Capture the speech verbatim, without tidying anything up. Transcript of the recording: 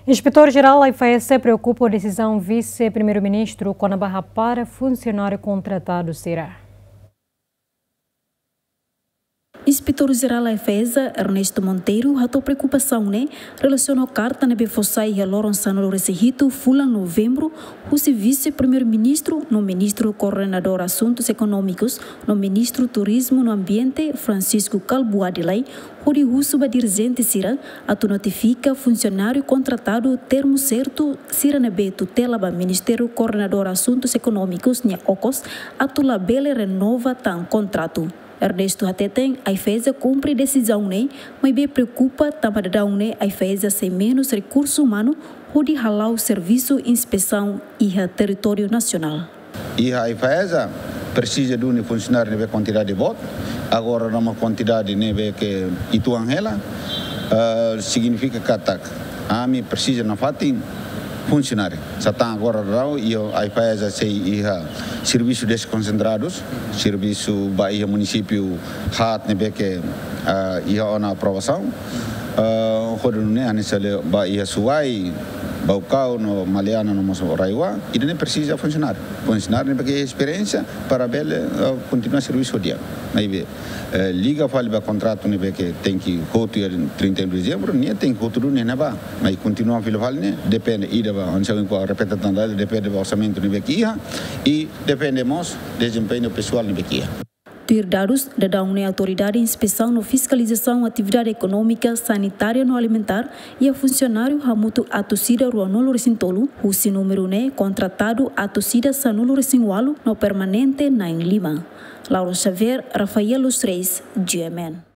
Inspetór Jerál AIFAESA preokupa ho desizaun Vise-Primeiru-Ministru kona-ba hapara funsionáriu kontratadu sira. Inspetór Jerál AIFAESA, Ernesto Monteiro, hato'o preokupasaun ne'e relasiona ho karta ne'ebé fó sai iha loron sanulu-resin-hitu fulan Novembru, husi Vise-Primeiru-Ministru no Ministru Koordenadór Asuntus Ekonómikus no Ministru Turizmu no Ambiente, Francisco Kalbuadi Lay, hodi husu ba dirijente sira atu notifika funsionáriu kontratadu termu sertu sira ne'ebé tutela ba Ministériu Koordenadór Asuntus Ekonómikus nia okos atu labele renova tan kontratu. Ernesto hateten, AIFAESA kumpre desizaun ne'e, maibé preokupa tanba daudaun ne'e AIFAESA sei menus rekursu umanu hodi hala'o servisu inspesaun iha territóriu nasionál. Iha AIFAESA presiza duni funsionáriu ne'ebé kuantidade boot, agora nia kuantidade ne'ebé ke uitoan hela, eh, signifika katak ami presiza nafatin funsionáriu. Sá tan agora daudaun iha AIFAESA sei iha servisu deskonsentradus, servisu ba iha munisípiu haat ne'ebé ke, ah, iha ona aprovasaun. Ah, hodi nune'e hanesan ba iha Suai, Baucau no Maliana no mós RAEOA, ida-ne'e presiza funsionáriu. Funsionáriu ne'ebé ke esperiénsia para bele, ah, kontinua servisu di'ak. Maibé, eh, liga fali ba kontratu ne'ebé ke tenke hotu iha trinta e um de dezembro, nia tenke hotu duni ne'ebá. Maibé kontinua fila fali ne'e, depende ida ba, hanesan ohin ha'u repete tan dala, depende ba orsamentu ne'ebé ke iha, i depende mós dezempeñu pesoál ne'ebé ke iha. Tuir dadus, daudaun ne'e Autoridade Inspesaun no Fiskalizasaun Atividade Ekonómika, Sanitária no Alimentár iha funsionáriu hamutuk atus ida ruanulu-resin-tolu, husi númeru ne'e kontratadu atus ida sanulu-resin-ualu no permanente na'in-lima. Laura Xavier, Rafael Luz Reis, G M N.